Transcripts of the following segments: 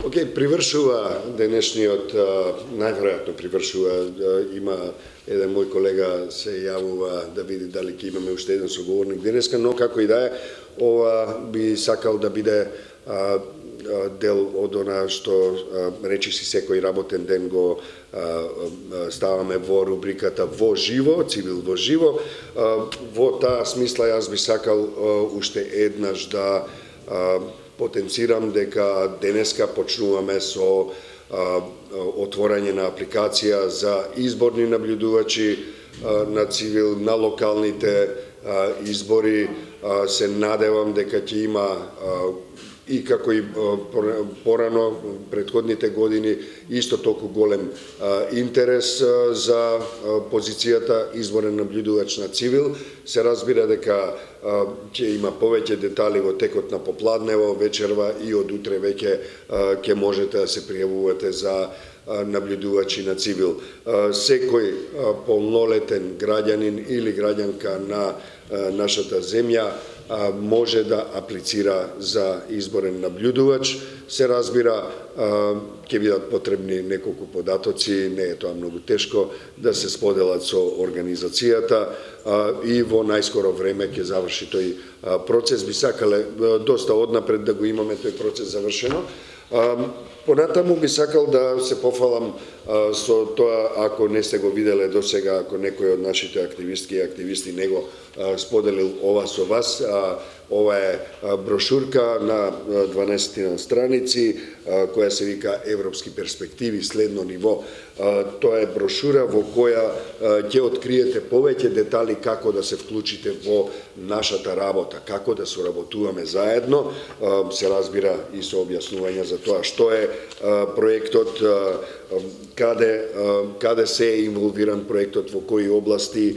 Привршува денешниот, најверојатно привршува, има еден мој колега се јавува да види дали ќе имаме уште еден соговорник денеска, но како и да е, ова би сакал да биде дел од она што речиси секој работен ден го ставаме во рубриката Во живо, Цивил во живо. Во таа смисла јас би сакал уште еднаш да потенцирам дека денеска почнуваме со отворање на апликација за изборни наблюдувачи на Цивил на локалните избори. Се надевам дека ќе има и како и порано претходните години исто толку голем интерес за позицијата изборен наблюдувач на Цивил. Се разбира дека ќе има повеќе детали во текот на попладнево, вечерва и од утре веќе ќе можете да се пријавувате за наблюдувачи на Цивил. Секој полнолетен граѓанин или граѓанка на нашата земја може да аплицира за изборен наблюдувач. Се разбира, ќе бидат потребни неколку податоци, не е тоа многу тешко да се споделат со организацијата и во најскоро време ќе заврши тој процес. Би сакале доста однапред да го имаме тој процес завршено. Понатаму би сакал да се пофалам со тоа, ако не сте го виделе досега, ако некој од нашите активистки и активисти не го споделил ова со вас, ова е брошурка на 12 страници, која се вика Европски перспективи, следно ниво. Тоа е брошура во која ќе откриете повеќе детали како да се вклучите во нашата работа, како да соработуваме заедно, се разбира и со објаснување за тоа што е проектот, каде се е инволвиран проектот, во кои области,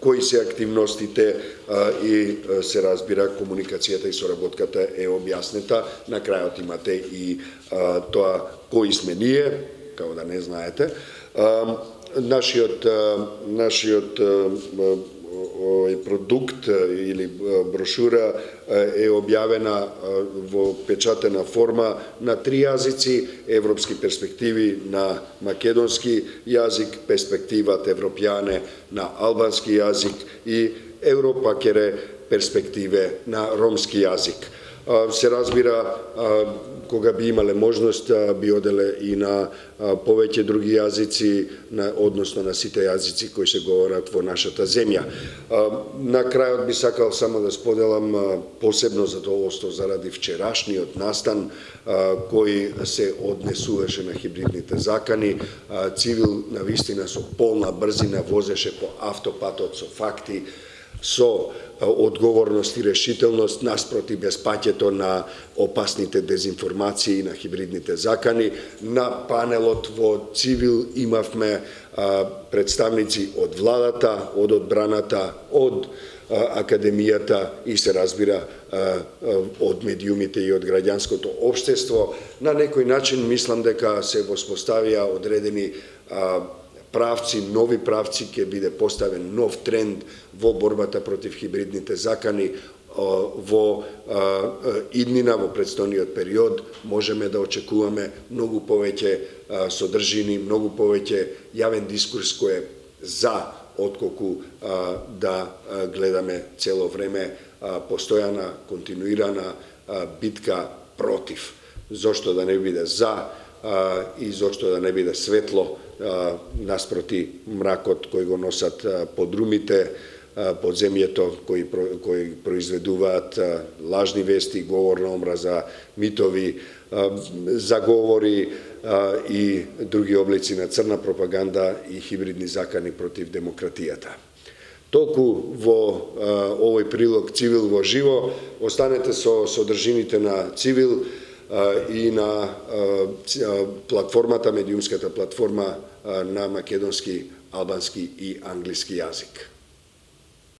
кои се активностите и се разбира комуникацијата и соработката е објаснета. На крајот имате и тоа кои сме ние, како да не знаете. Нашиот продукт или брошура е објавена во печатена форма на 3 јазици: Европски перспективи на македонски јазик, Перспективат Европјане на албански јазик и Европакере перспективе на ромски јазик. Се разбира, кога би имале можност, би оделе и на повеќе други јазици, односно на сите јазици кои се говорат во нашата земја. На крајот би сакал само да споделам посебно задоволство заради вчерашниот настан кој се однесуваше на хибридните закани. Цивил навистина со полна брзина возеше по автопатот со факти, со одговорност и решителност наспроти безпаќето на опасните дезинформации на хибридните закани. На панелот во Цивил имавме представници од владата, од одбраната, од академијата и се разбира од медиумите и од граѓанското општество. На некој начин мислам дека се воспоставија одредени правци, нови правци, ќе биде поставен нов тренд во борбата против хибридните закани во иднина, во предстојниот период. Можеме да очекуваме многу повеќе содржини, многу повеќе јавен дискурс кој е за, отколку да гледаме цело време постојана, континуирана битка против. Зошто да не биде за и зошто да не биде светло наспроти мракот кој го носат подрумите, подземјето кои произведуваат лажни вести, говор на омраза, митови, заговори и други облици на црна пропаганда и хибридни закани против демократијата. Толку во овој прилог Цивил во живо. Останете со содржините на Цивил и на платформата, медиумската платформа на македонски, албански и англиски јазик.